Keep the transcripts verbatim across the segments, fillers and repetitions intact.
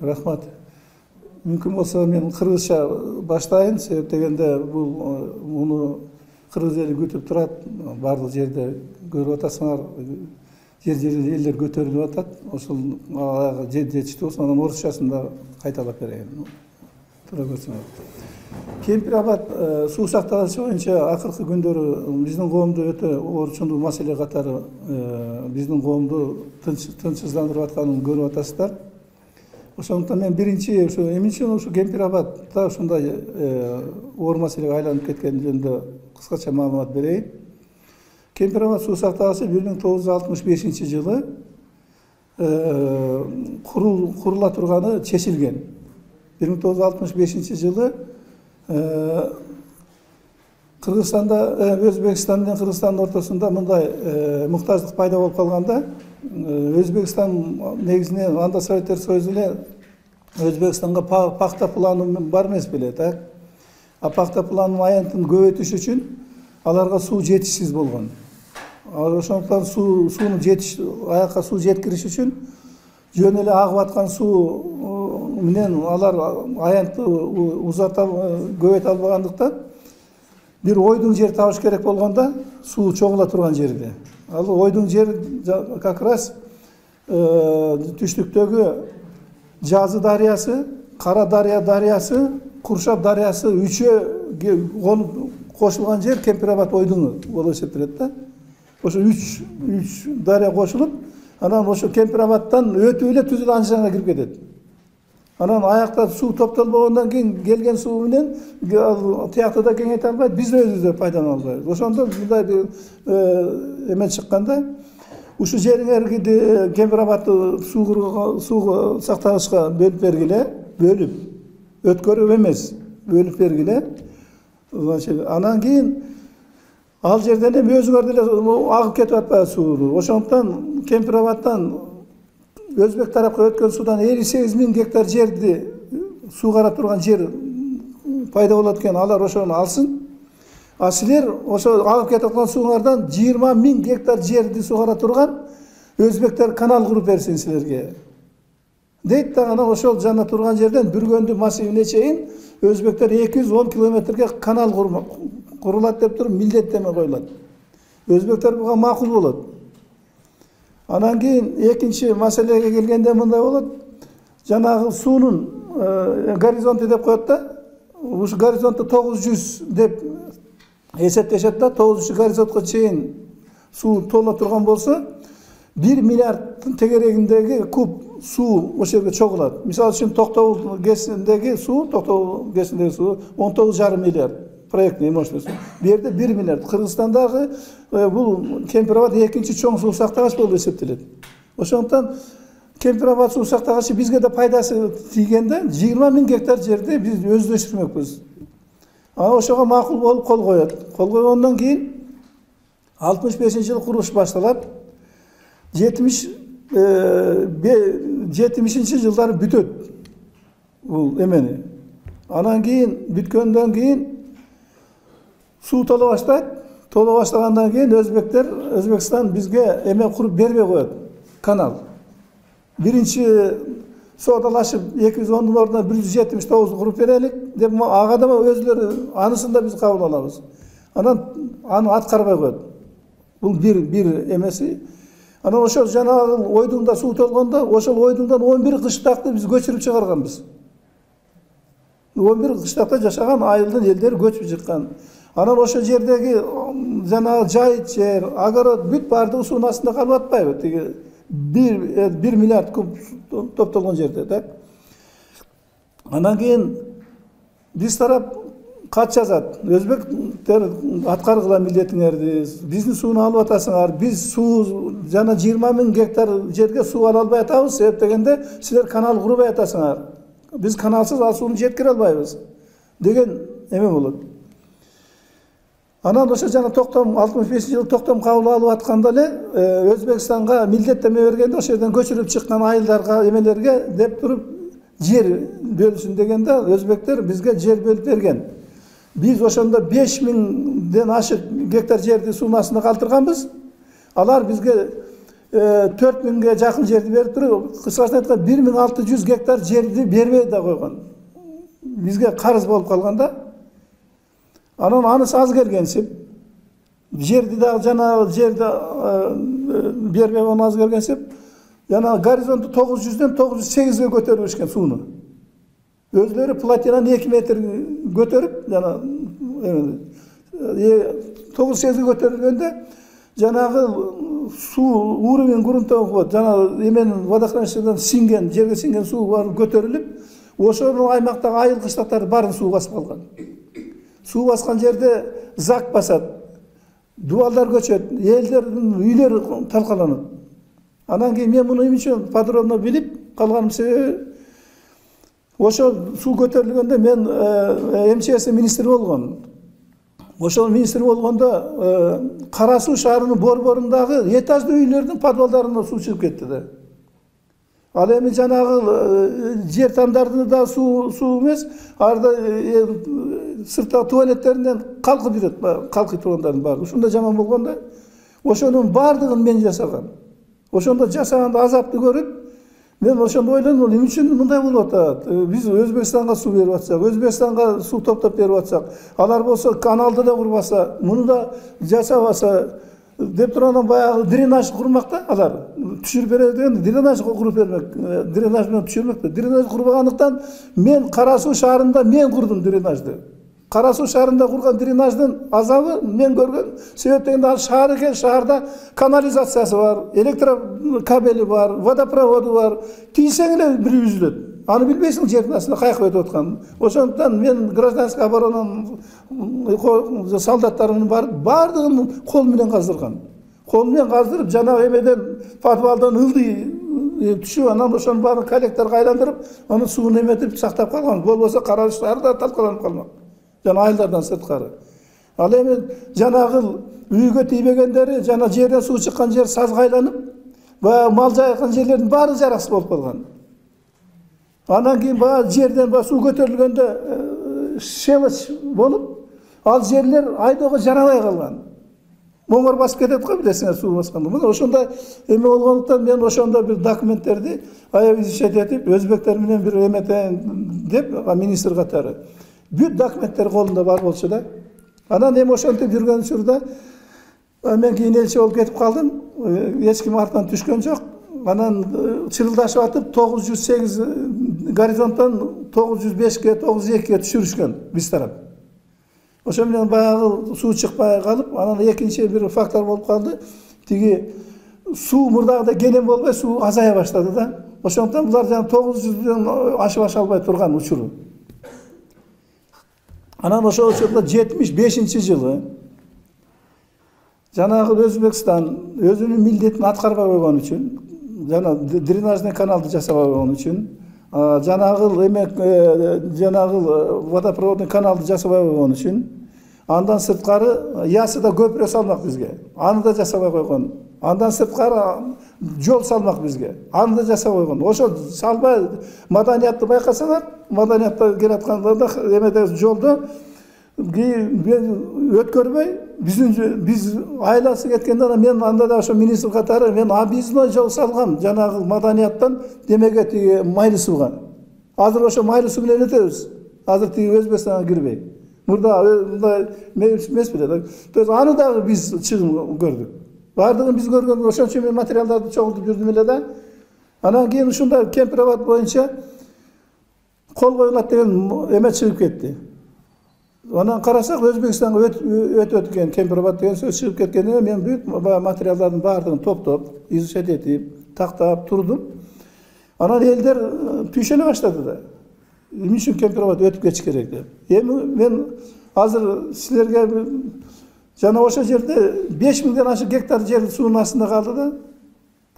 Рахмат. Мүмкүн болсо мен кыргызча баштайын, себеп дегенде бул муну кыргыз эли күтүп турат. Бардык жерде көрүп атасыңар, жер жер элдер көтөрүлүп атат. Ошол жер жетиштүү болсо анан орусчасын да кайталап берейин. Тура көрсөңөр. Кемпирабад суу сактагычы боюнча акыркы күндөрү биздин коомдо өтө орчундуу маселе катары биздин коомду тынчсыздандырып атканын көрүп атасыздар. Ошондуктан мен биринчи ушу эмне үчүн ушу Кемпирабадда ушундай оор маселеге айланып кеткени жөнүндө кыскача маалымат берейин. Кемпирабад суу сактагычы бир миң тогуз жүз алтымыш бешинчи жылы курула турганы чечилген. бир миң тогуз жүз алтымыш бешинчи жылы Кыргызстанда, Өзбекстан менен Кыргызстандын ортосунда мындай муктаждык пайда болуп калганда, Өзбекстан негизинен анда Советтер Союзу эле Өзбекстанга пахта планы бар эмес беле, так? А пахта планын аянтын көбөйтүш үчүн аларга суу жетишсиз болгон. Ошондуктан суу сууну жетиш, аякка суу жеткириш үчүн жөн эле агып аткан суу менен алар аянтты узарта көбөйтө албагандыктан бир ойдуң жер табыш керек болгондо суу чогула турган жерде. Ал ойдуң жер как раз түштүктөгү Жазы дарыясы, Кара дарыя дарыясы, Куршап дарыясы үчөө кошулган жер Кемпирабад ойдуңу болуп эсептелет да. Ошо үч үч дарыя кошулуп, анан ошо Кемпирабадтан өтүп эле Түзүл Анжанга кирип кетет. Анан аякта суу топтолбогондон кийин келген суу менен тиякты да кеңейте албайт, биз өзүбүз да пайдалана албайбыз. Ошондо мындай бир эме чыкканда, ушу жериңерди Кемпирабадды суу сактагычка бөлүп бергиле, бөлүп, өткөрүп эмес, бөлүп бергиле. Анан кийин ал жерден эми өзүңөр деле агып кетип атпайбы суу. Ошондуктан Кемпирабадтан Өзбек тарапка өткөн суудан элүү сегиз миң гектар жерди суугара турган жер пайда болот экен, алар ошону алсын. А силер ошо агып кетип аткан сууңардан жыйырма миң гектар жерди суугара турган өзбектер канал куруп берсин силерге. Дейт да, анан ошол жана турган жерден Бүргөндү массивине чейин өзбектер эки жүз он километрге канал курулат деп туруп милдеттеме коюлат. Өзбектер буга макул болот. Анан кийин экинчи маселеге келгенде мындай болот. Жанагы суунун горизонту деп коет да. Ушу горизонту тогуз жүз деп эсептешет да. тогуз жүз горизонтко чейин суу толо турган болсо, бир миллиард тегерегиндеги куб суу ошол жерге чогулат. Мисалы үчүн Токтогул ГЭСиндеги суу, Токтогул ГЭСиндеги суу он тогуз жарым миллиард. Проектный мощность. Бу жерде бир миллиард. Кыргызстандагы бул Кемпирабад экинчи чоң суу сактагач болуп эсептелет. Ошондуктан Кемпирабад суу сактагычы бизге да пайдасы тийгенде жыйырма миң гектар жерди биз өздөштүрмөкпүз. А ошого макул болуп кол коет. Кол койгондон кийин алтымыш бешинчи жылы курулуш башталат. жетимиш жетимишинчи жылдары бүтөт бул эмени. Анан кийин бүткөндөн кийин суу толо баштайт. Толо баштагандан кийин өзбектер, Өзбекстан бизге эме куруп бербей коет, канал. Биринчи соодалашып эки жүз ондун ордуна бир жүз жетимиш тогузду куруп берелик деп, ага да өзлөрү анысын да биз кабыл алабыз. Анан аны аткарбай коет. Бул бир бир эмеси. Анан ошол жанагы ойдуңда суу толгондо, ошол ойдуңдан он бир кыштакты биз көчүрүп чыгарганбыз. он бир кыштакта жашаган айылдын элдери көчүп чыккан. Анан ошол жердеги жанагы жайыт жер, огород бүт баардыгы суунун астында калып атпайбы? Тиги бир миллиард куб топтолгон жерде, так? Анан кийин биз тарап кат жазат. Өзбектер аткаргыла милдетиңерди, биздин сууну алып атасыңар. Биз суу жана жыйырма миң гектар жерге суу ала албай атабыз, себеп дегенде силер канал курбай атасыңар. Биз каналсыз ал сууну жеткире албайбыз деген эме болот. Анан ошо жана токтом алтымыш бешинчи жылы токтом кабыл алып атканда эле Өзбекстанга милдеттеме бергенде ошол жерден көчүрүп чыккан айылдарга, эмелерге деп туруп жер бөлүшүн дегенде өзбектер бизге жер бөлүп берген. Биз ошондо беш миңден ашык гектар жерди суунун астында калтырганбыз. Алар бизге төрт миңге жакын жерди берип туруп, кыскасын айтканда бир миң алты жүз гектар жерди бербей да койгон. Бизге карыз болуп калганда, анан анысы аз келгенсип, жерди дагы жанагы жерди бербей оны аз келгенсип, жана горизонту тогуз жүздөн тогуз жүз сегизге көтөрүп ишкен сууну. Өзлөрү платинаны эки метр көтөрүп, жана тогуз сегизге көтөрүлгөндө жанагы суу уровень грунтового жана эменин водохранилищеден синген, жерге синген суу бар көтөрүлүп, ошол аймактагы айыл кыштактарды баарын суу басып калган. Суу баскан жерде зак басат, дубалдар көчөт, элдердин үйлөрү талкаланат. Анан кийин мен муну эмне үчүн подробно билип калганым себеби, ошол суу көтөрүлгөндө мен МЧС министри болгом. Ошол министр болгондо Кара Суу шаарынын борборундагы этаждуу үйлөрдүн подвалдарына суу чыгып кетти да. Ал эми жанагы жер тамдарды да суу суу эмес, арда сырттагы туалеттеринен калкып жүрөт, калкый тургандардын баары. Ушундай жаман болгон да. Ошонун баардыгын мен жасагам. Ошондо жасаганда азапты көрүп, мен ошондо ойлодум, эмне үчүн мындай болуп атат? Биз Өзбекстанга суу берип атсак, Өзбекстанга суу топтоп берип атсак, алар болсо каналды да курбаса, муну да жасабаса деп турган баягы дренаж курмак да алар. Түшүрүп берет деген дренаж куруп бермек, дренаж менен түшүрмөк да. Дренаж курбагандыктан мен Кара Суу шаарында мен курдум дренажды. Кара Суу шаарында курган дренаждын азабы мен көргөн. Себеп дегенде ал шаар экен, шаарда канализациясы бар, электрокабели бар, водопроводу бар. Тийсең эле бири үзүлөт. Аны билбейсиң жердин астында каяка өтүп атканын. Ошондуктан мен гражданский оборонанын солдаттарынын барып баардыгын кол менен каздырган. Кол менен каздырып, жанагы эмеден подвалдан ылдый түшүп, анан ошонун баарын коллекторго айландырып, аны сууну эметип сактап калган. Болбосо Кара Суу шаары да талкаланып калмак. Жана айылдардан сырткары. Ал эми жанагы үйгө тийбегендери, жана жерден суу чыккан жер сазга айланып, баягы мал жайган жерлердин баары жараксыз болуп калган. Анан кийин баягы жерден баягы суу көтөрүлгөндө шелоч болуп, ал жерлер айдоого жарабай калган. Моңор басып кетет го, билесиңер, суу басканда. Мына ошондой эме болгондуктан мен ошондо бир документтерди аяп изучать этип, өзбектер менен бир эметейин деп, министр катары. Бүт документтер колунда бар болчу да. Анан эми ошентип жүргөн учурда мен кийин элчи болуп кетип калдым. Эч ким артынан түшкөн жок. Анан чырылдашып атып тогуз жүз сегиз горизонттон тогуз жүз бешке, тогуз жүз экиге түшүрүшкөн биз тарап. Ошо менен баягы суу чыкпай калып, анан экинчи бир фактор болуп калды. Тиги суу мурдагыдай келем болбой, суу азая баштады да. Ошондуктан булар жана тогуз жүздөн ашып аша албай турган учуру. Анан ошол учурда жетимиш бешинчи жылы жанагы Өзбекстан өзүнүн милдетин аткарбай койгон үчүн, жана дренажный каналды жасабай койгон үчүн, жанагы эме жанагы водопроводный каналды жасабай койгон үчүн, андан сырткары Ясыда көпүрө салмак бизге. Аны да жасабай койгон. Андан сырткары жол салмак бизге. Аны да жасабай койгон. Ошо салбай маданиятты байкасаңар, маданиятта келатканда эмеде жолдо өткөрбөй, биздин биз айласы кеткенде мен анда да ошо министр катары мен объездной жол салгам, жанагы маданияттан демеге тиги Майлы сууга. Азыр ошо Майлы суу менен өтөбүз. Азыр тиги Өзбекстанга кирбей. Мурда мындай эмес беле. То есть аны дагы биз чыгым көрдүк. Бардыгын биз көргөн, ошончо мен материалдарды чогултуп жүрдүм эле да. Анан кийин ушундай Кемпирабад боюнча кол коюлат деген эме чыгып кетти. Анан карасак Өзбекстанга өтөт экен, Кемпирабад деген сөз чыгып кеткенде мен бүт материалдардын баардыгын топтоп, изучать этип, тактап турдум. Анан элдер түйшөлө баштады да. Эмне үчүн Кемпирабад өтүп кетиш керек деп. Эми мен азыр силерге жана ошол жерде беш миңден ашык гектар жер суунун астында калды да.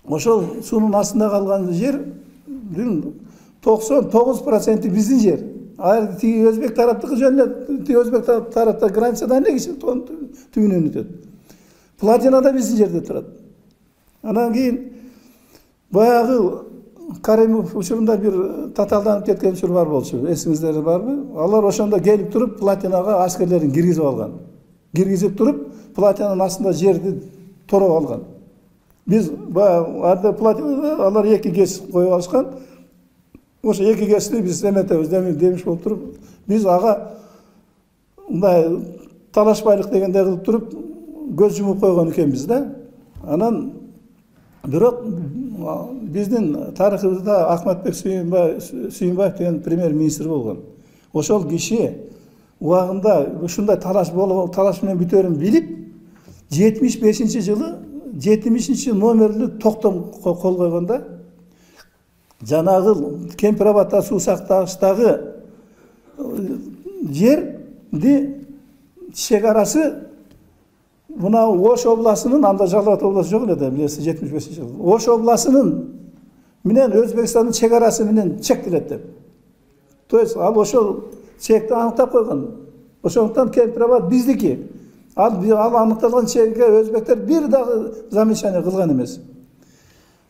Ошол суунун астында калган жердин токсон тогуз проценти биздин жер. А тиги Өзбек тараптыкы жөн эле, тиги Өзбек тарапта границадан эле кичи түбүнөн өтөт. Платина да биздин жерде турат. Анан кийин баягы Каримов учурунда бир татаалданып кеткен учур бар болчу. Эсиңиздер барбы? Алар ошондо келип туруп Платинага аскерлерин киргизип алган. Киргизип туруп Платинанын астында жерди тороп алган. Биз баягы арды платила алар эки кес коюп алышкан. Ошо эки кести биз эметебиз демиш болуп туруп, биз ага мындай талашпайлык дегендей кылып туруп көз жумуп койгон экенбиз да. Анан бирок биздин тарыхыбызда Акматбек Сүйүнбаев деген премьер-министр болгон. Ошол киши убагында ушундай талаш болуп, талаш менен бүтөрүн билип, жетимиш бешинчи жылы жетимишинчи номерлүү токтом кол койгонда, жанагы Кемпирабадта суу сактагычтагы жерди чек арасы мына Ош областынын, анда Жалал Абад областы жок эле да, билесиз, жетимиш бешинчи жылы. Ош областынын менен Өзбекстандын чек арасы менен чектелет деп. То есть ал ошол чекти аныктап койгон. Ошондуктан Кемпирабад биздики. Ал ал аныкталган чекке өзбектер бир дагы замечание кылган эмес.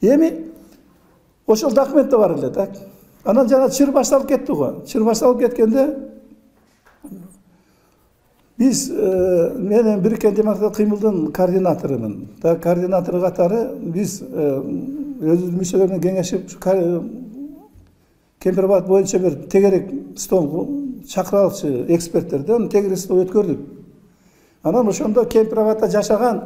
Эми ошол документ да бар эле да. Анан жана чыр башталып кетти го. Чыр башталып кеткенде биз менен Бириккен демократиялык кыймылдын координаторумун. Да, координатор катары биз өзүбүздүн мүчөлөрүнө кеңешип Кемпирабад боюнча бир тегерек стол чакыралычы эксперттерден тегерек стол өткөрдүк. Анан ошондо Кемпирабадта жашаган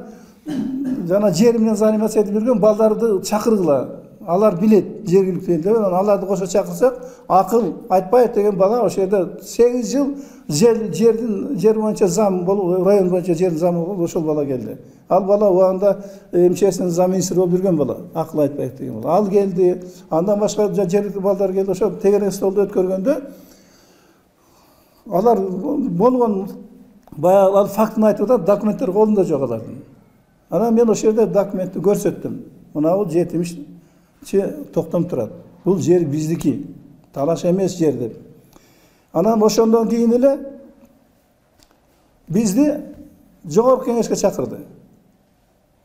жана жер менен заниматься этип жүргөн балдарды чакыргыла. Алар билет жергиликтүү элде. Анан аларды кошо чакырсак, Акыл Айтбаев деген бала ошол жерде сегиз жыл жердин жер боюнча зам болуп, район боюнча жердин замы болуп, ошол бала келди. Ал бала убагында МЧСнин зам министри болуп жүргөн бала, Акыл Айтбаев деген бала. Ал келди, андан башка жергиликтүү балдар келди. Ошо тегерек столду өткөргөндө алар болгон баягы ал фактын айтып атат, документтер колунда жок алардын. Анан мен ошол жерде документти көрсөттүм. Мына бул жетимишинчи токтом турат. Бул жер биздики. Талаш эмес жер деп. Анан ошондон кийин эле бизди жогорку кеңешке чакырды.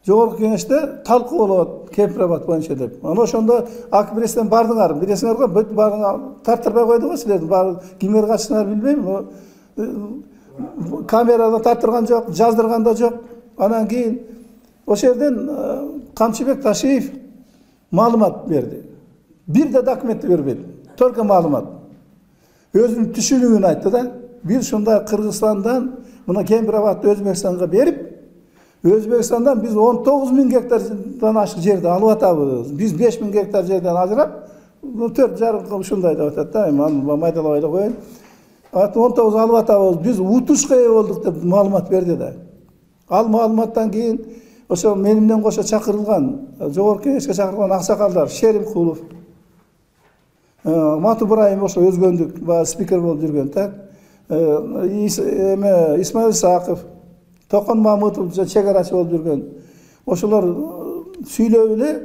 Жогорку кеңеште талкуу болот Кемпирабад боюнча деп. Анан ошондо Акбрестен бардыңар, билесиңер го, бүт бардыңар, тартырбай койду го силерди, баары кимдер катышсыңар билбейм. Камерадан тартырган жок, жаздырган да жок. Анан кийин ошол жерден Камчыбек Ташиев маалымат берди. Бир да документти бербеди. Только маалымат. Өзүнүн түшүнүгүн айтты да. Биз ушундай Кыргызстандан мына Кемпирабадты Өзбекстанга берип, Өзбекстандан биз он тогуз миң гектардан ашык жерди алып атабыз. Биз беш миң гектар жерден ажырап, төрт жарым ушундай деп атат да. Эми майдалабай эле коеюн. он тогуз алып атабыз. Биз утушка ээ болдук деп маалымат берди да. Ал маалыматтан кийин ошо мени менен кошо чакырылган, жогорку кеңешке чакырылган аксакалдар Шеримкулов, Мату Ибраим ошо өзгөндүк баягы спикер болуп жүргөн так. Эме Исмаил Исаков, Токон Мамутов чек арачы болуп жүргөн. Ошолор сүйлөп эле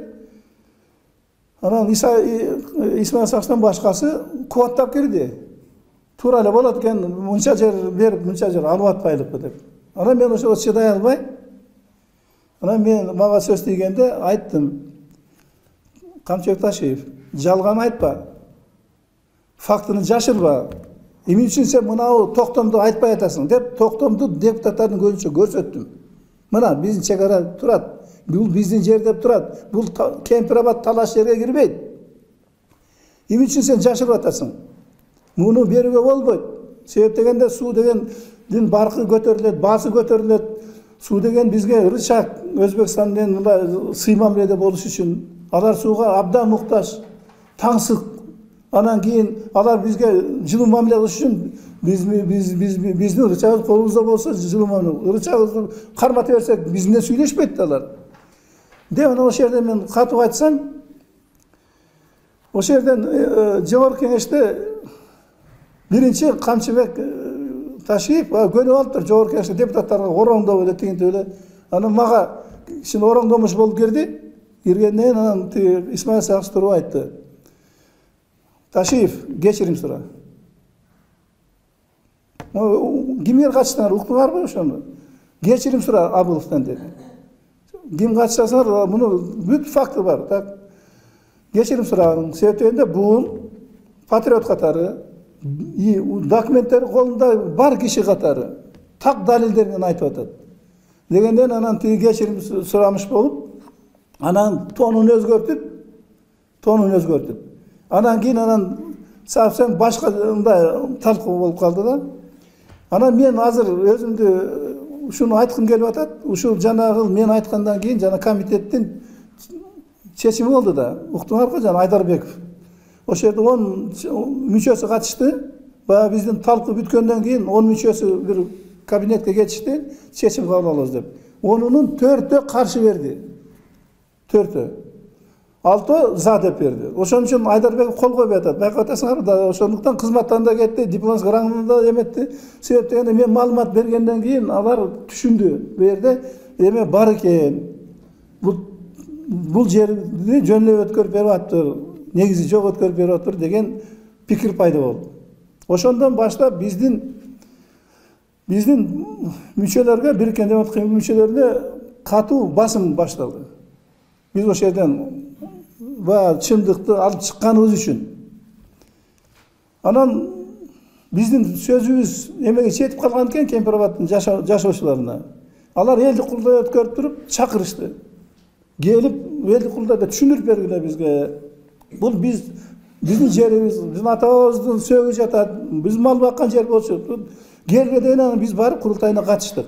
анан Исмаил Исаковдон башкасы кубаттап кирди. Туура эле болот экен, мынча жер берип, мынча жер алып атпайлыкпы деп. Анан мен ошого чыдай албай, анан мен мага сөз тийгенде айттым. Камчыбек Ташиев, жалган айтпа. Фактыны жашырба. Эмне үчүн сен мынау токтомду айтпай атасың деп токтомду депутаттардын көзүнчө көрсөттүм. Мына биздин чек ара турат. Бул биздин жер деп турат. Бул Кемпирабад талаш жерге кирбейт. Эмне үчүн сен жашырып атасың? Муну берүүгө болбойт. Себеп дегенде суу дегендин баркы көтөрүлөт, баасы көтөрүлөт. Суу деген бизге рычаг, Өзбекстан менен мындай сый мамиледе болуш үчүн. Алар сууга абдан муктаж, таңсык. Анан кийин алар бизге жылуу мамиле кылыш үчүн биз биз биз биздин рычагыбыз колубузда болсо жылуу мамиле, рычагыбызды кармата берсек биз менен сүйлөшпөйт да алар. Деп анан ошол жерде мен катып айтсам, ошол жерден жогорку кеңеште биринчи Камчыбек Ташиев көнүп алыптыр, жогорку кеңеште депутаттарга ороңдоп эле тигинтип эле. Анан мага кишини ороңдомуш болуп кирди. Киргенден анан Исмаил Сакс туруп айтты. Ташиев, кечирим сура. Кимге катыштыңар, уктуңарбы ошону? Кечирим сура Абыловдон деди. Ким катышасыңар, муну бүт факты бар, так. Кечирим сураган себептегенде бул патриот катары, документтери колунда бар киши катары так далилдер менен айтып атат. Дегенден анан тиги кечирим сурамыш болуп, Анан тонун өзгөртүп, тонун өзгөртүп. Анан кийин анан совсем башка мындай талкуу болуп калды да. Анан мен азыр өзүмдү ушуну айткым келип атат. Ушул жанагы мен айткандан кийин жана комитеттин чечими болду да. Уктуңарбы жана Айдарбеков. Ошол жерде он мүчөсү катышты. Баягы биздин талкуу бүткөндөн кийин он мүчөсү бир кабинетке кетишти, чечим кабыл алабыз деп. Онунун төртөө каршы берди. Төртөө. Алтоо за деп берди. Ошон үчүн Айдарбеков кол койбой атат. Байкап атасыңарбы да, ошондуктан кызматтан да кетти, дипломатик раңынан да эметти. Себеп дегенде мен маалымат бергенден кийин алар түшүндү. Бу жерде эме бар экен. Бул бул жерди жөнлөп өткөрүп берип атыптыр. Негизи жок өткөрүп берип атыптыр деген пикир пайда болду. Ошондон баштап биздин биздин мүчөлөргө, бириккен демократик кыймыл мүчөлөрүнө катуу басым башталды. Биз ошол жерден баягы чындыкты алып чыкканыбыз үчүн. Анан биздин сөзүбүз эмеге жетип калган экен Кемпирабадтын жашоочуларына. Алар элдик курултай өткөрүп туруп чакырышты. Келип элдик курултайда түшүндүрүп бергиле бизге. Бул биз биздин жерибиз, биздин ата-бабабыздын сөөгү жатат. Биз мал баккан жер болчу. Келге деген биз барып курултайына катыштык.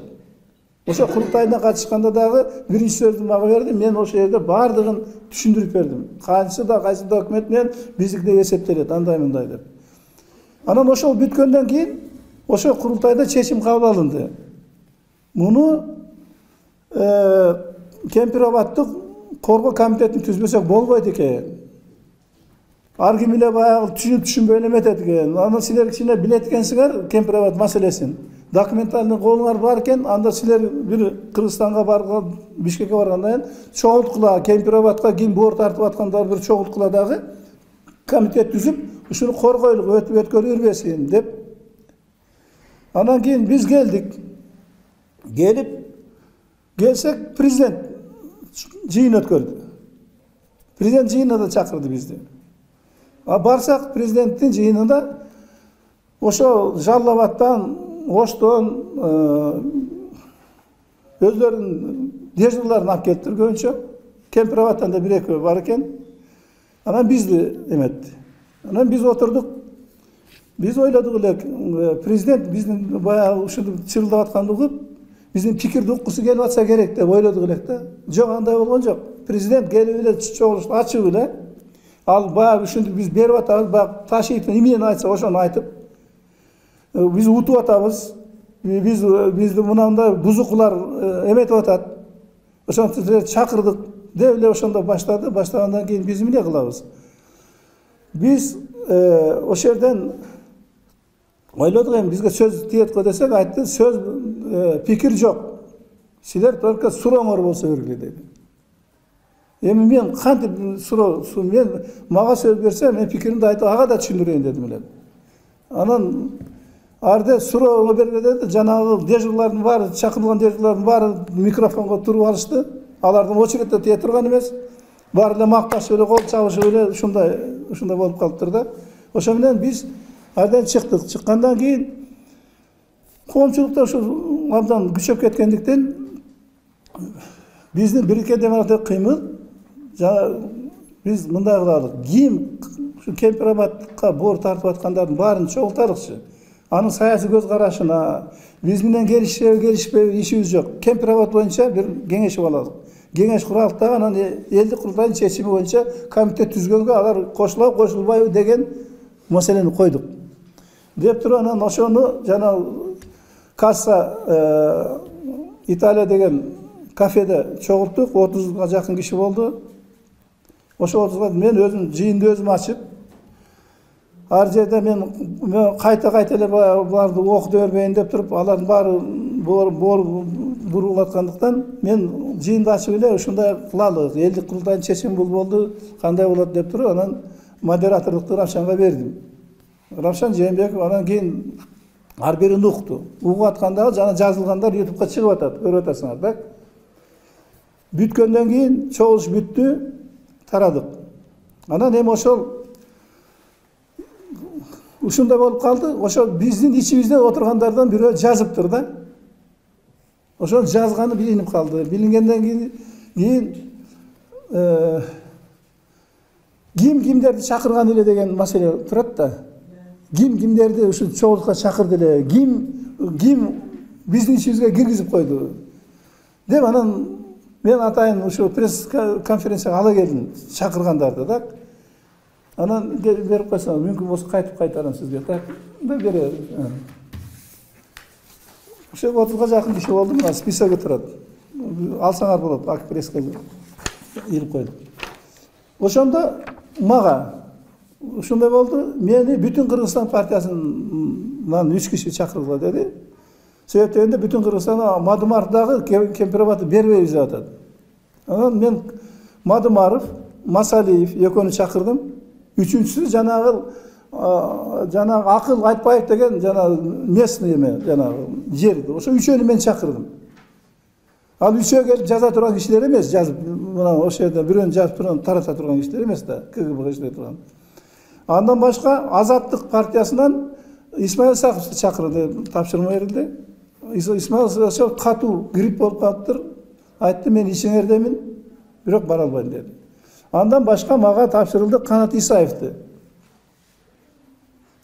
Ошо курултайына катышканда дагы биринчи сөздү мага берди. Мен ошол жерде бардыгын түшүндүрүп бердим. Кайсы да кайсы документ менен биздики деп эсептелет, андай мындай деп. Анан ошол бүткөндөн кийин ошо курултайда чечим кабыл алынды. Муну э Кемпирабадтык коргоо комитетин түзбөсөк болбойт экен. Ар ким эле баягы түшүнүп түшүнбөй эметет экен. Аны силер кичине билет экенсиңер Кемпирабад маселесин. Документальный колуңар бар экен, анда силер бир Кыргызстанга барган, Бишкекке баргандан чогулткула, Кемпирабадка ким боор тартып аткандар бир чогулткула дагы комитет түзүп, ушуну коргойлук, өтүп өткөрүп жүрбөсүн деп. Андан кийин биз келдик. Келип келсек президент жыйын өткөрдү. Президент жыйынына да чакырды бизди. А барсак президенттин жыйынында ошо Жалал-Абадтан, Оштон өздөрүнүн дежурларын алып келиптир көбүнчө. Кемпирабадтан да бир экөө бар экен. Анан бизди эметти. Анан биз отурдук. Биз ойлодук эле, президент биздин баягы ушуну чырылдап атканды угуп, биздин пикирди уккусу келип атса керек деп ойлодук элек да. Жок, андай болгон жок. Президент келип эле чогулушту ачып эле, ал баягы ушинтип биз берип атабыз, баягы Ташиевдин эмнени айтса ошону айтып, биз утуп атабыз, биз бизди мынандай бузукулар эметип атат. Ошондон силерди чакырдык деп эле ошондо баштады. Баштагандан кийин биз эмне кылабыз? Биз ошол жерден ойлодук, эми бизге сөз тиет го десек, айтты, сөз пикир жок. Силер только сурооңор болсо бергиле деди. Эми мен кантип суроо, мен мага сөз берсе, мен пикиримди айтып, ага да түшүндүрөйүн дедим эле. Анан арде суроо бергиле деди, жанагы дежурлардын баары, чакырылган дежурлардын баары микрофонго туруп алышты. Алардын очередде тие турган эмес. Баары эле макташып эле, кол чабышып эле, ушундай, ушундай болуп калыптыр да. Ошо менен биз ардан чыктык. Чыккандан кийин коомчулукта ушу абдан күчөп кеткендиктен биздин бириккен демократик кыймыл биз мындай кылалык. Ким ушу Кемпирабадка боор тартып аткандардын баарын чогулталыкчы. Анын саясий көз карашына, биз менен келишпей, келишпей ишибиз жок. Кемпирабад боюнча бир кеңешип алалык. Кеңеш куралык да, анан элдик курултайдын чечими боюнча комитет түзгөнгө алар кошулабы, кошулбайбы деген маселени койдук. Деп туруп анан ошону жана Касса Италия деген кафеде чогулттук, отузга жакын киши болду. Ошо отузга мен өзүм жыйынды өзүм ачып, ар жерде мен кайта-кайта эле буларды окута бербейин деп туруп, алардын баары боор бурулуп аткандыктан мен жыйынды ачып эле ушундай кылалык, элдик курултайдын чечими бул болду, кандай болот деп туруп, анан модераторлукту Равшанга бердим. Равшан Жээнбеков анан кийин ар бирин укту. Угуп атканда жана жазылгандар ютубка чыгып атат, көрүп атасыңар да. Бүткөндөн кийин чогулуш бүттү, тарадык. Анан эми ошол ушундай болуп калды. Ошол биздин ичибизде отургандардан бирөө жазыптыр да. Ошол жазганы билинип калды. Билингенден кийин ким кимдерди чакырган эле деген маселе турат да. Ким кимдерди ушу чогулукка чакырды эле, ким ким биздин ичибизге киргизип койду деп анан мен атайын ушу пресс конференцияга ала келдим чакыргандарды да. Анан берип койсоң, мүмкүн болсо кайтып кайтарам сизге так. Бере. Ошо отузга жакын киши болду, мына списокко турат. Алсаңар болот, ак пресске илип койдум. Ошондо мага ушундай болду, мени бүтүн Кыргызстан партиясынан үч киши чакыргыла деди. Себеп дегенде бүтүн Кыргызстанда Мадумаров дагы Кемпирабадты бербейбиз деп атат. Анан мен Мадумаров, Масалиев экөөнү чакырдым. Үчүнчүсү жанагы жанагы Акыл Айтбаев деген жанагы местный эме, жанагы жер. Ошо үчөөнү мен чакырдым. Ал үчөө келип жаза турган кишилер эмес, жазып, мына ошол жерде бирөөнү жазып турган, тарата турган кишилер эмес да, КГБга иштей турган. Андан башка Азаттык партиясынан Исмаил Саковду чакырды, тапшырма берилди. Исмаил Саков катуу грипп болуп калыптыр. Айтты, мен ичиңердемин, бирок бара албайм деди. Андан башка мага тапшырылды Канат Исаевди.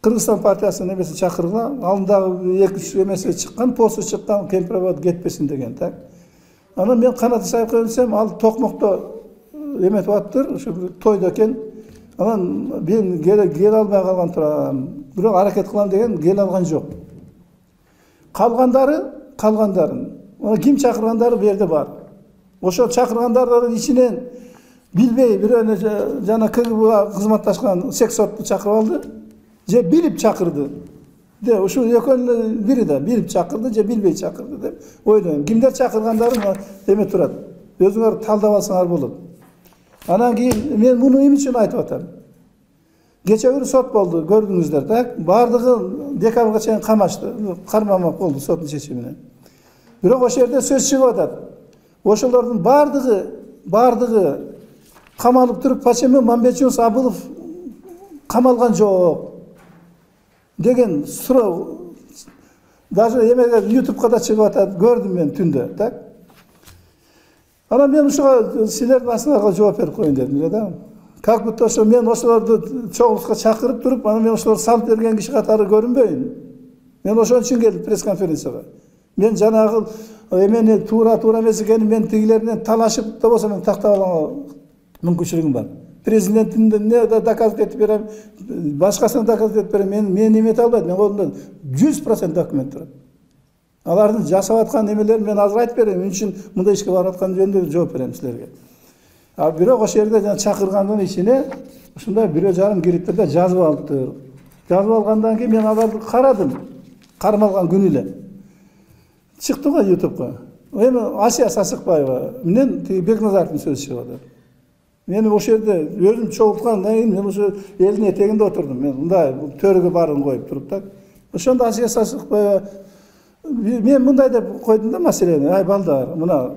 Кыргызстан партиясынын эмеси чакырган, алдындагы эки үч эмеси чыккан, посту чыккан, Кемпирабад кетпесин деген так. Анан мен Канат Исаевге келсем, ал Токмокто эметип аттыр, ушу тойдо экен. Анан мен келе албай калган турам, бирок аракет кылам деген келе алган жок. Калгандары, калгандарын, ким чакыргандары бу жерде бар. Ошо чакыргандардын ичинен билбей бирөөнү жана КГБга кызматташкан Сексотду чакырып алды, же билип чакырды. Де, ушу экөөнүн бири да билип чакырды, же билбей чакырды деп ойлойм. Кимдер чакыргандарын эме турат. Өзүңөр талдап алсаңар болот. Анан кийин мен муну эмне үчүн айтып атам? Кече күнү сот болду, көрдүңүздөр, так? Бардыгы декабрга чейин камашты, кармамак болду соттун чечими менен. Бирок ошол жерде сөз чыгып атат. Ошолордун бардыгы, бардыгы камалып туруп, почему Мамбетжон Абылов камалган жок деген суроо даже эмеге ютубка да чыгып атат, көрдүм мен түндө, так? Анан мен ушуга силердин астыңарга жооп берип коеюн дедим да. Как будто ошо мен ошолорду чогулушка чакырып туруп, анан мен ошолорду салып берген киши катары көрүнбөйүн. Мен ошон үчүн келдим пресс конференцияга. Мен жанагы эмени туура-туура эмес экенин мен тигилеринен талашып да болсо мен тактап алганга мүмкүнчүлүгүм бар. Президентине да доказать этип берем, башкасына доказать этип берем. Мен мен эмете албайм. Мен колумда жүз процент документ турат. Алардын жасап аткан эмелерин мен азыр айтып берем. Үчүн үчүн мындай ишке барып аткан жөнүндө жооп берем силерге. А бирок ошол жерде жана чакыргандын ичине ушундай бирөө жарым кириптерде жазып алыптыр. Жазып алгандан кийин мен аларды карадым. Кармалган күнү эле. Чыкты го ютубка. Эми Асия Сасыкбаева менен тиги Бекназаровдун сөзү чыгып атат. Мен ошол жерде өзүм чогулткандан кийин мен ошо элдин этегинде отурдум. Мен мындай төрөгө барын коюп туруп так. Ошондо Асия Сасыкбаева мен мындай деп койдум да маселени. Ай балдар, мына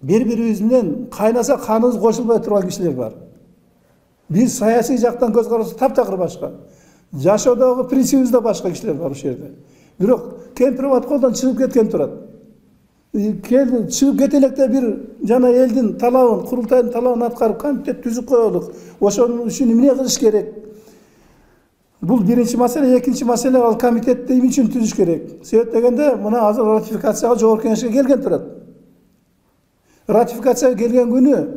бири-бирибиз менен кайнаса каныбыз кошулбай турган кишилер бар. Биз саясий жактан көз карасыбыз таптакыр башка. Жашоодогу принцибибиз да башка кишилер бар ошол жерде. Бирок Кемпирабад колдон чыгып кеткен турат. Келди, чыгып кете электе бир жана элдин талабын, курултайдын талабын аткарып комитет түзүп коелук. Ошонун үчүн эмне кылыш керек? Бул биринчи маселе, экинчи маселе ал комитетти эмне үчүн түзүш керек? Себеп дегенде мына азыр ратификацияга жогорку кеңешке келген турат. Ратификацияга келген күнү,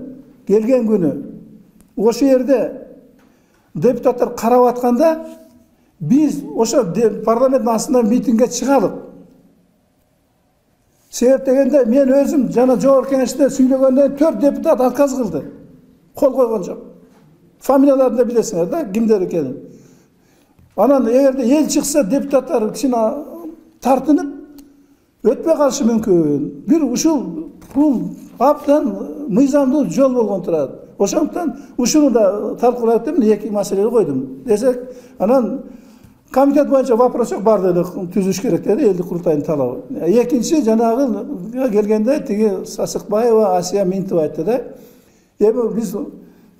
келген күнү ошол жерде депутаттар карап атканда биз ошо парламенттин астынан митингге чыгалык. Себеп дегенде мен өзүм жана жогорку кеңеште сүйлөгөндө төрт депутат отказ кылды. Кол койгон жок. Фамилияларын да билесиңер да, кимдер экенин. Анан эгерде эл чыкса депутаттар кичине тартынып өтпөй калышы мүмкүн. Бир ушул бул абдан мыйзамдуу жол болгон турат. Ошондуктан ушуну да талкуулап деп эки маселени койдум. Десек, анан комитет боюнча вопрос жок, барды эле түзүш керек деди, элдик курултайдын талабы. Экинчи жанагы келгенде тиги Сасыкбаева, Асия Минтова айтты да. Эми биз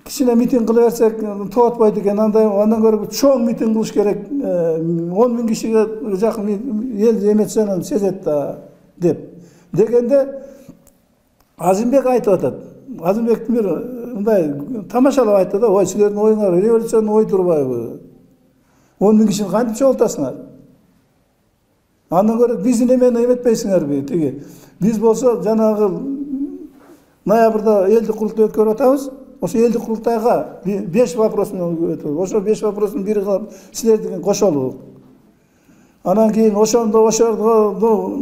кичине митинг кыла берсек тоотпойт экен, андай андан көрө чоң митинг кылыш керек, он миң кишиге жакын эл эметсен сезет да деп. Дегенде Азимбек айтып атат. Азымбектин бир мындай тамашалап айтты да, ой силердин оюңар революционный ой турбайбы? он миң кишини кантип чогултасыңар? Андан көрө биздин эмени эметпейсиңерби? Тиги биз болсо жанагы ноябрда элдик курултай өткөрүп атабыз. Ошо элдик курултайга беш вопрос менен өтөбүз. Ошо беш вопростун бири кылып силердин кошолук. Анан кийин ошондо ошол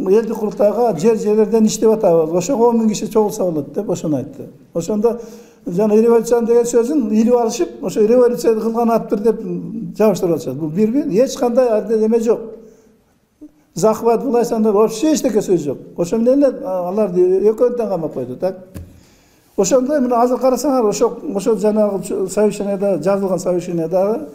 элдик курултайга жер жерлерден иштеп атабыз. Ошого он миң киши чогулса болот деп ошону айтты. Ошондо жана революцион деген сөзүн илип алышып, ошо революция кылган аттыр деп жабыштырып атышат. Бул бир-бир эч кандай эме жок. Захват властьтанда вообще эчтеке сөз жок. Ошо менен эле аларды экөөнтөн камап койду, так. Ошондой мына азыр карасаңар, ошо ошо жанагы совещанияда жазылган совещанияда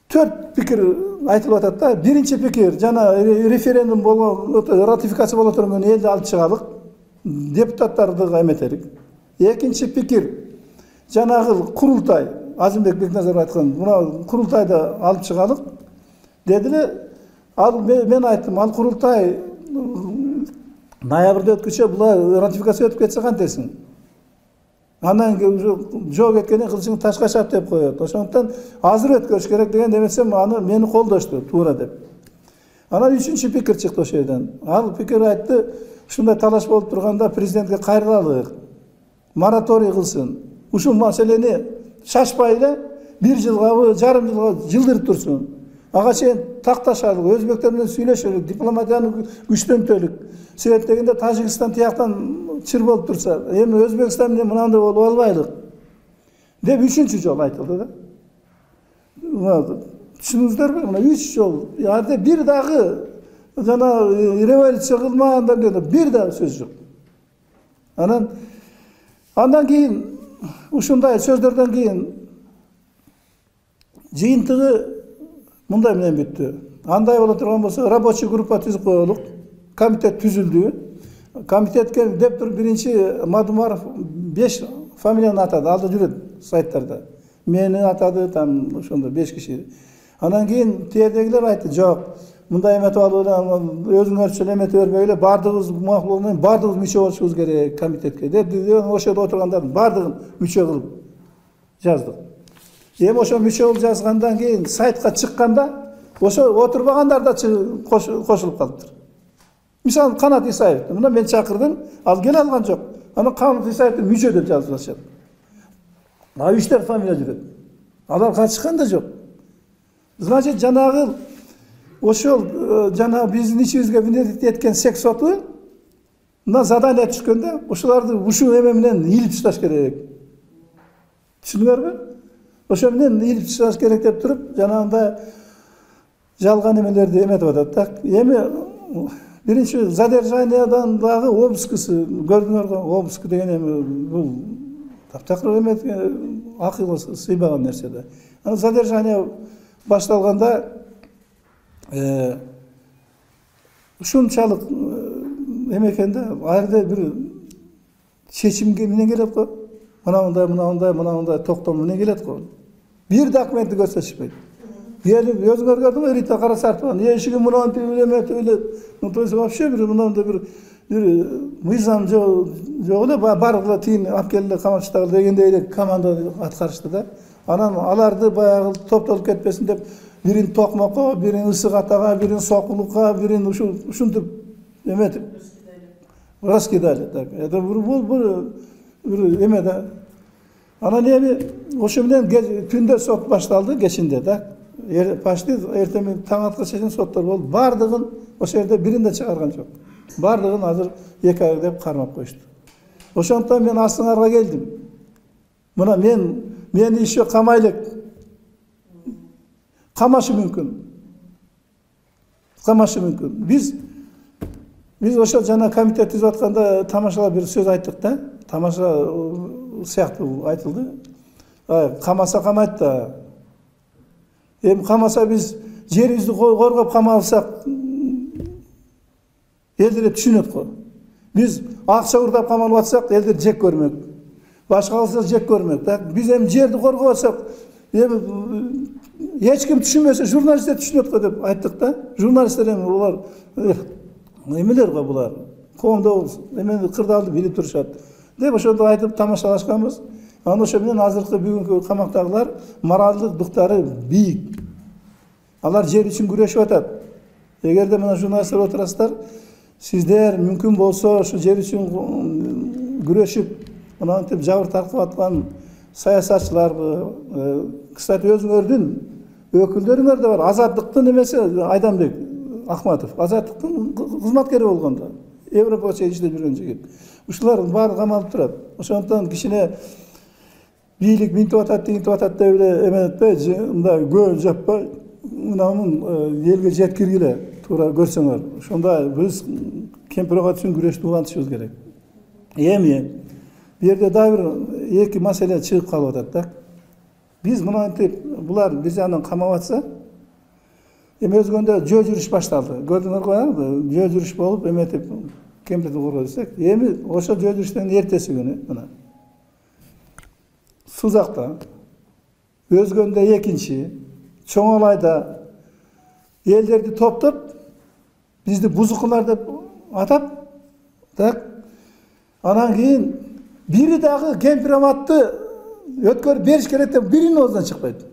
төрт пикир айтылып атат да. Биринчи пикир жана референдум болгон, ратификация боло турган элди алып чыгалык, депутаттарды эметелик. Экинчи пикир жанагы курултай, Азымбек Бекназаров айткан, мына курултайды алып чыгалык деди эле. Ал мен айттым, ал курултай ноябрда өткүчө була ратификация өтүп кетсе кантесиң? Анан жок эткенин кылычың ташка чап деп коет. Ошондуктан азыр өткөрүш керек деген демесем, аны мени колдошту, туура деп. Анан үчүнчү пикир чыкты ошол жерден. Ал пикир айтты, ушундай талаш болуп турганда президентке кайрылалык, мораторий кылсын. Ушул маселени шашпай эле бир жылга, жарым жылга жылдырып турсун. Ага чейин такташалык, өзбектер менен сүйлөшөлүк, дипломатияны күчтөнтөлүк. Себеп дегенде Тажикстан тияктан чыр болуп турса, эми Өзбекстан менен мынандай болуп албайлык деп үчүнчү жол айтылды да. Түшүндүңүздөрбү? Мына үч жол. Анда бир дагы жана революция кылмагандан кийин бир дагы сөз жок. Анан андан кийин ушундай сөздөрдөн кийин жыйынтыгы мындай менен бүттү. Андай боло турган болсо, рабочий группа түзүп коелук. Комитет түзүлдү. Комитетке деп туруп биринчи Мадумаров беш фамилияны атады, алда жүрөт сайттарда. Мени атады, там ошондо беш киши. Анан кийин тиердегилер айтты, жок, мындай эметип алып өзүңөрчө эметип бербей эле баардыгыбыз макул менен баардыгыбыз мүчө болушубуз керек комитетке деп, ошол жерде отургандардын баардыгын мүчө кылып жаздык. Эми ошо мүчө кылып жазгандан кийин сайтка чыкканда ошо отурбагандар да кошулуп калыптыр. Мисалы Канат Исаев, мына мен чакырдым, ал келе алган жок. Анан Канат Исаевди мүчө деп жазып атышат. А үчтөр фамилия жүрөт. Алар катышкан да жок. Значит, жанагы ошол жана биздин ичибизге внедрить эткен сек соту мына задание түшкөндө ошоларды ушул эме менен илип ташташ керек. Түшүндүңөрбү? Ошо менен илип ташташ керек деп туруп, жанагындай жалган эмелерди эметип атат да. Эми биринчи задержаниядан дагы обыскысы көрдүңөр го, обыск деген эми бул таптакыр эме акылга сыйбаган нерсе да. Анан задержание башталганда ушунчалык эме экен да, айрда бир чечимге менен келет го. Мына мындай, мына мындай, мына мындай токтом менен келет го. Бир документти көрсөтүшпөйт. Келип өзүңөр көрдүңөр Рита Карасартованы, эшиги мындан тиле эметип эле, ну то есть вообще бир мындай бир бир мыйзам жок эле, баргыла тиин алып келип камап чыгалы дегендей эле команда аткарышты да. Анан аларды баягы топтолуп кетпесин деп бирин токмокко, бирин ысык атага, бирин сокулукка, бирин ушул ушинтип эметип раскидали так. Это бул бир эме да. Анан эми ошо менен түндө сот башталды, кечинде да. Почти эртең таң атканга чейин соттор болуп, бардыгын ошол жерде бирин да чыгарган жок. Бардыгын азыр эки ай деп кармап коюшту. Ошондуктан мен астыңарга келдим. Мына мен мени еще камайлык камашы мүмкүн. Камашы мүмкүн. Биз биз ошол жана комитет түзүп атканда тамашалап бир сөз айттык да. Тамаша сыяктуу айтылды. Камаса камайт да. Эми камаса биз жерибизди коргоп камалсак элдер түшүнөт го. Биз акча урдап камалып атсак элдер жек көрмөк. Башка кылса жек көрмөк да. Биз эми жерди коргоп атсак эми эч ким түшүнбөсө журналисттер түшүнөт го деп айттык да. Журналисттер эми булар эмелер го булар. Коомдо эмени кырдаалды билип турушат. деп ошондо айтып тамашалашканбыз. Анан ошо менен азыркы бүгүнкү камактагылар моралдык дуктары бийик. Алар жер үчүн күрөшүп атат. Эгерде мына журналисттер отурасыздар, сиздер мүмкүн болсо ошо жер үчүн күрөшүп, мынантип жабыр таркап аткан саясатчыларбы, кстати өзүңөрдүн өкүлдөрүңөр да бар. Азаттыктын эмеси Айданбек Акматов, Азаттыктын кызматкери болгондо, Европага чейин иштеп жүргөн жигит. Ушулар баары камалып турат. Ошондон кичине бийлик минтип атат, тигинтип атат деп эле эметпей, мындай көз жаппай, мынамын элге жеткиргиле туура көрсөңөр. Ошондо биз Кемпирабад үчүн күрөштү улантышыбыз керек. Эми бу жерде дагы бир эки маселе чыгып калып атат да. Биз мынантип булар бир жагынан камап атса, эми өзгөндө жөө жүрүш башталды. Көрдүңөр го, жөө жүрүш болуп эметип Кемпирди куруу десек, эми ошо жөө жүрүштөн эртеси күнү мына Сузакта, өзгөндө экинчи, Чоңолайда элдерди топтоп, бизди бузукулар деп атап, так. Анан кийин бири дагы Кемпирабадты өткөрүп бериш керек деп биринин оозунан чыкпайт.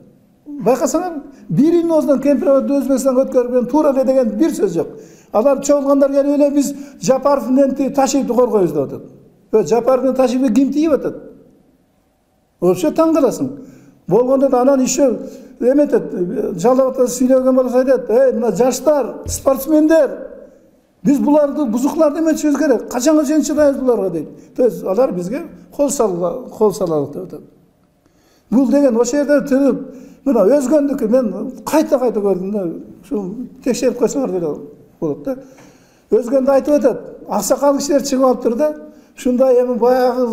Байкасаңар, биринин оозунан Кемпирабадды Өзбекстанга өткөрүп туура эле деген бир сөз жок. Алар чогулгандар келип эле биз Жапаров менен Ташиевди коргойбуз деп атат. Ö Жапаров менен Ташиевди ким тийип атат? Вообще таң каласың. Болгондо да анан еще эметет, жалап атат, сүйлөгөн болсо айтат, "Эй, мына жаштар, спортсмендер, биз буларды бузуклар деметишибиз керек. Качанга чейин чыдайбыз буларга" дейт. То есть алар бизге кол сала, кол салалык деп атат. Бул деген ошо жерде тырып, мына өзгөндүкү мен кайта-кайта көрдүм да, ушу текшерип койсоңор деле болот да. Өзгөндө айтып атат, аксакал кишилер чыгып алыптыр да. Ушундай эми баягы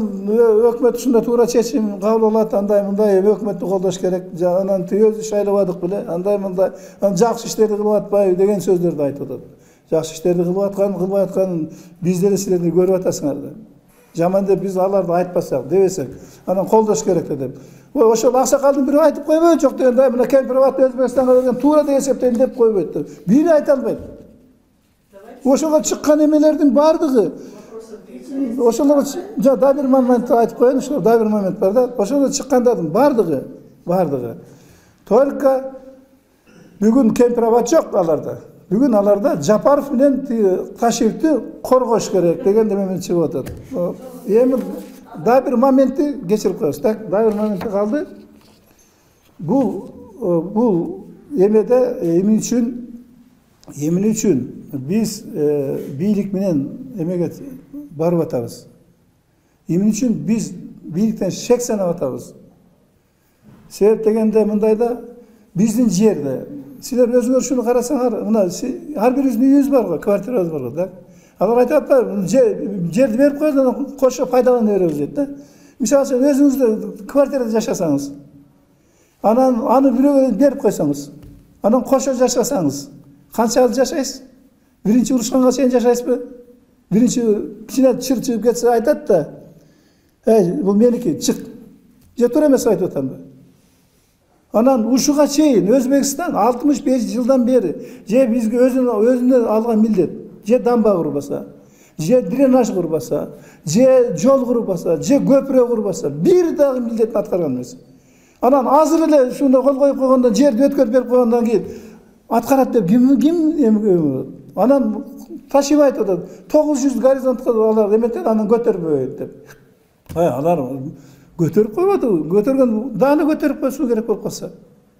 өкмөт ушундай туура чечим кабыл алат, андай мындай өкмөттү колдош керек. Анан өзү шайлабадык беле, андай мындай жакшы иштерди кылып атпайбы деген сөздөрдү айтып атат. Жакшы иштерди кылып аткан, кылбай атканын биз деле силерди көрүп атасыңар да. Жаман деп биз аларды айтпасак, дебесек, анан колдош керек да деп. Ой, ошол аксакалдын бири айтып койбойбу, жок дегенде мына Кемпирабадты Өзбекстанга берген туура деп эсептейм деп койбойт да. Бири айта албайт. Ошого чыккан эмелердин бардыгы ошолор жа да бир моментти айтып коеюн, ошол да бир момент бар да. Ошолор чыккандардын бардыгы, бардыгы. Только бүгүн Кемпирабад жок аларда. Бүгүн аларда Жапаров менен Ташиевди коргош керек деген неме чыгып атат. Эми да бир моментти кечирип коебуз, так? Да бир моментти калды. Бул бул эмеде эмне үчүн эмне үчүн биз бийлик менен эмеге барып атабыз. Эмне үчүн биз бийликтен шек санап атабыз. Себеп дегенде мындай да, биздин жерде силер өзүңөр шуну карасаңар, мына ар бирибиздин үйүбүз бар го, квартирабыз бар го да. Алар айтып атпайбы, жерди берип коебуз, анан кошо пайдалана беребиз дейт да. Мисалы үчүн өзүңүздө квартирада жашасаңыз, анан аны бирөөгө берип койсоңуз, анан кошо жашасаңыз, канча жыл жашайсыз? Биринчи урушканга чейин жашайсызбы? Биринчи кичине чыр чыгып кетсе айтат да, "Эй, бул меники, чык." Же туура эмес айтып атамбы? Анан ушуга чейин Өзбекстан алтымыш беш жылдан бери же бизге өзүнө өзүнө алган милдет, же дамба курбаса, же дренаж курбаса, же жол курбаса, же көпүрө курбаса, бир дагы милдетин аткарган эмес. Анан азыр эле ушундай кол коюп койгондон, жерди өткөрүп берип койгондон кийин аткарат деп ким ким анан Ташиев айтып атат, тогуз жүз горизонтко алар эметет, анан көтөрбөйт деп. Ай, алар көтөрүп койбоду, көтөргөн дагы көтөрүп койсо керек болуп калса.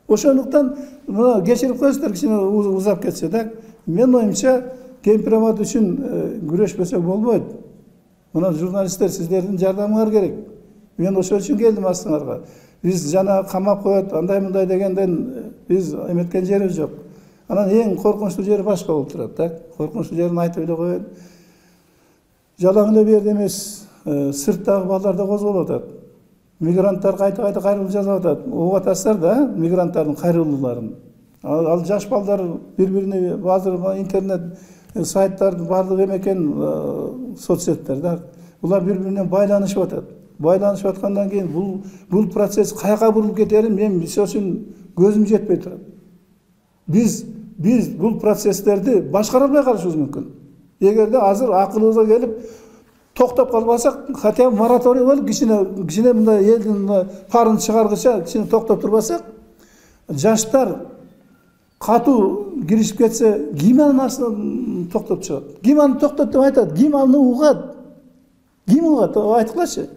Ошондуктан мына кечирип коесуздар, кичине узап кетсе да. Мен оюмча Кемпирабад үчүн күрөшпөсө болбойт. Мына журналисттер сиздердин жардамыңар керек. Мен ошол үчүн келдим астыңарга. Биз жана камап коет, андай мындай дегенден биз эметкен жерибиз жок. Анан эң коркунучтуу жери башка болуп турат, так? Коркунучтуу жерин айтып эле коеюн. Жалаң эле бу жерде эмес, сырттагы балдар да козголуп атат. Мигранттар кайта-кайта кайрылуу жасап атат. Угуп атасыздар да, мигранттардын кайрылууларын. Ал жаш балдар бири-бирине азыр интернет сайттардын бардыгы эме экен, соцсеттер да. Булар бири-биринен байланышып атат. Байланышып аткандан кийин бул бул процесс кайга бурулуп кетерин мен мисалы үчүн көзүм жетпей турат. Биз биз бул процесстерди башкара албай калышыбыз мүмкүн. Эгерде азыр акылыбызга келип токтоп калбасак, хотя бы мораторий болуп, кичине кичине мындай элдин парын чыгаргыча кичине токтоп турбасак, жаштар катуу киришип кетсе, ким анын астынан токтоп чыгат? Ким аны токтот деп айтат? Ким аны угат? Ким угат? Айткылачы.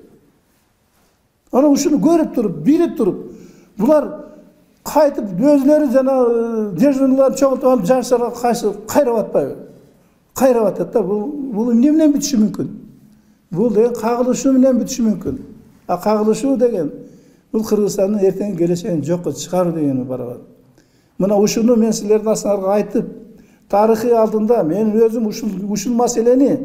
Ана ушуну көрүп туруп, билип туруп, булар кайтып өзлөрү жана дежурныйларды чогултуп алып жаштарга каршы кайрап атпайбы? Кайрап атат да. Бул бул эмне менен бүтүшү мүмкүн? Бул деген кагылышуу менен бүтүшү мүмкүн. А кагылышуу деген бул Кыргызстандын эртеңки келечегин жокко чыгаруу дегени барабар. Мына ушуну мен силердин астыңарга айтып, тарыхый алдында мен өзүм ушул ушул маселени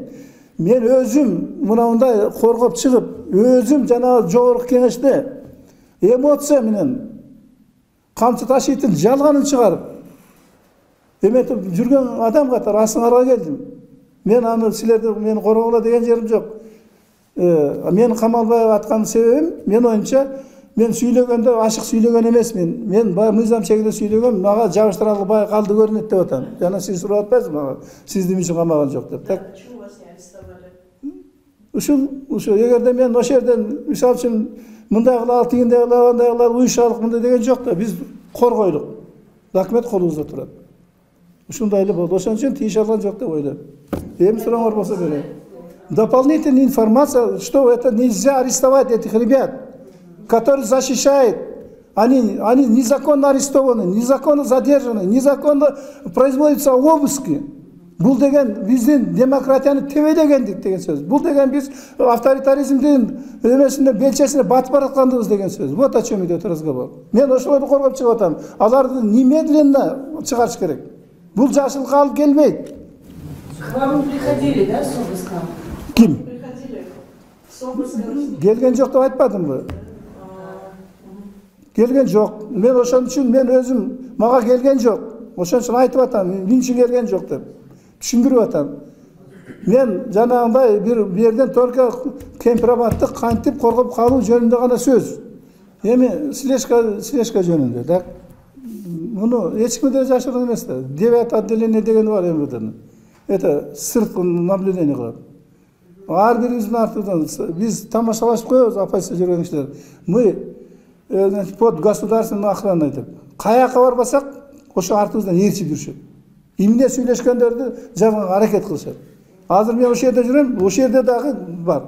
мен өзүм мынандай коргоп чыгып, өзүм жана жогорку кеңеште эмоция менен камчы ташыйтын жалганын чыгарып эметип жүргөн адам катары астыңарга келдим. Мен аны силерди мени коргогула деген жерим жок. Мен камалбай аткан себебим, мен оюмча, мен сүйлөгөндө ашык сүйлөгөн эмесмин. Мен баягы мыйзам чегинде сүйлөгөм, мага жабыштыралы бай калды көрүнөт деп атам. Жана сиз сурап атпайсызбы мага? Сизди эмне үчүн камаган жок деп. Так. Ушул ушул эгерде мен ошол жерден мисалы үчүн мындай кылалы, тигиндей кылалы, андай кылалы, уюшалык мындай деген жок да. Биз коргойлук. Документ колубузда турат. Ушундай эле болду. Ошон үчүн тийише алган жок деп ойлойм. Эми сурооңор болсо берейин. Дополнительная информация, что это нельзя арестовать этих ребят, которые защищают. Они, они незаконно арестованы, незаконно задержаны, незаконно производятся обыски. Бул деген биздин демократияны тебелегендик деген сөз. Бул деген биз авторитаризмдин эмесине, белчесине батып бараткандыгыбыз деген сөз. Вот о чем идет разговор. Мен ошолорду коргоп чыгып атам. Аларды немедленно чыгарыш керек. Бул жашылыкка алып келбейт. К вам приходили, да, с обыском? Ким? Приходили с обыском. Келген жок деп айтпадымбы? Келген жок. Мен ошон үчүн мен өзүм мага келген жок. Ошон үчүн айтып атам, мен үчүн келген жок деп. Түшүндүрүп атам. Мен жанагындай бир жерден только кемпирабадты кантип коргоп калуу жөнүндө гана сөз. Эми слежка слежка жөнүндө, да. Муну эч кимде жашырган эмес да. девять отделение деген бар эм вэ дэнин. Это сырткы наблюдение кылат. Ар бирибиздин артынан биз тамашалашып коебуз, оппозиция жүргөн кишилер. Мы значит, под государственной охраной деп. Каяка барбасак, ошо артыбыздан ээрчип жүрүшөт. Эмне сүйлөшкөндөрдү жазганга аракет кылышат. Азыр мен ошол жерде жүрөм, ошол жерде дагы бар.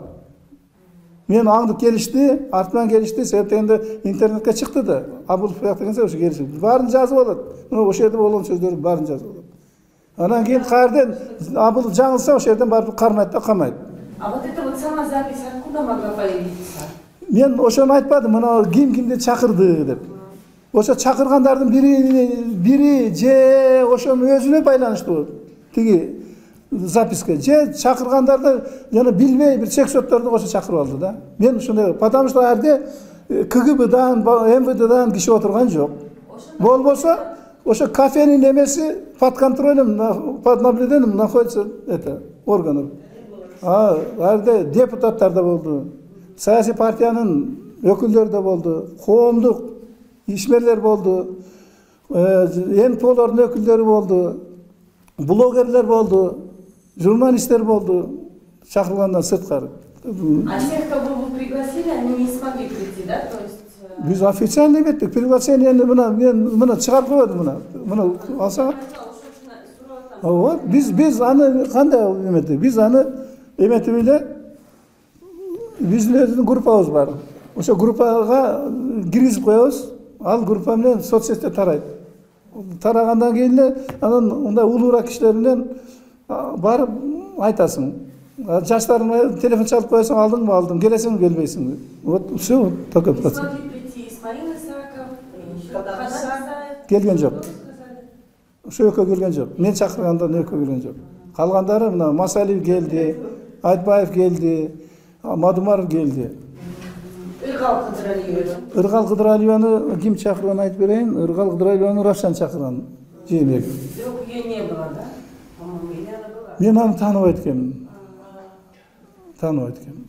Мен аңдып келишти, артынан келишти, себеп дегенде интернетке чыкты да. Абулов деген ошо келишти. Баарын жазып алат. Мына ошол жерде болгон сөздөрдү баарын жазып алат. Анан кийин каерден Абулов жаңылса ошол жерден барып кармайт да камайт. А вот эта вот сама запись откуда могла появиться? Мен ошону айтпадым, мына ким кимди чакырды деп. Ошо чакыргандардын бири бири же ошонун өзүнө байланыштуу тиги записка же чакыргандарды жана билбей бир сексотторду кошо чакырып алды да. Мен ушундай, потому что арде ка гэ бэдан, эм вэ дэдан киши отурган жок. Болбосо ошо кафенин эмеси под контролем, под наблюдением находится это органов. А арде депутаттар да болду, саясий партиянын өкүлдөрү да болду, коомдук ишмерлер болду, эн пэ олордун өкүлдөрү болду, блогерлер болду, журналисттер болду, чакырылгандан сырткары. А тех, кого вы пригласили, они не смогли прийти, да? То есть биз официально эметтик, приглашениени мына мен мына чыгарып койдум мына. Мына алсаңар. Вот, биз биз аны кандай эметтик? Биз аны эметип эле биздин өзүбүздүн группабыз бар. Ошо группага киргизип коебуз. Ал группа менен соцсетте тарайт. Тарагандан кийин эле анан мындай улуураак кишилер менен барып айтасың. Жаштарыңа телефон чалып коесуң, алдыңбы, алдым, келесиңби, келбейсиңби? Вот все, только процесс. Келген жок. Ошо экөө келген жок. Мен чакыргандан экөө келген жок. Калгандары мына Масалиев келди, Айтбаев келди, Мадумаров келди. Ыргал Кыдыралиева. Ыргал Кыдыралиеваны ким чакырганын айтып берейин? Ыргал Кыдыралиеваны Равшан чакырган. Жээнбек. Жоқ, ее не было, да? По-моему, или она была? Мен аны тааныбайт экенмин. Тааныбайт экенмин.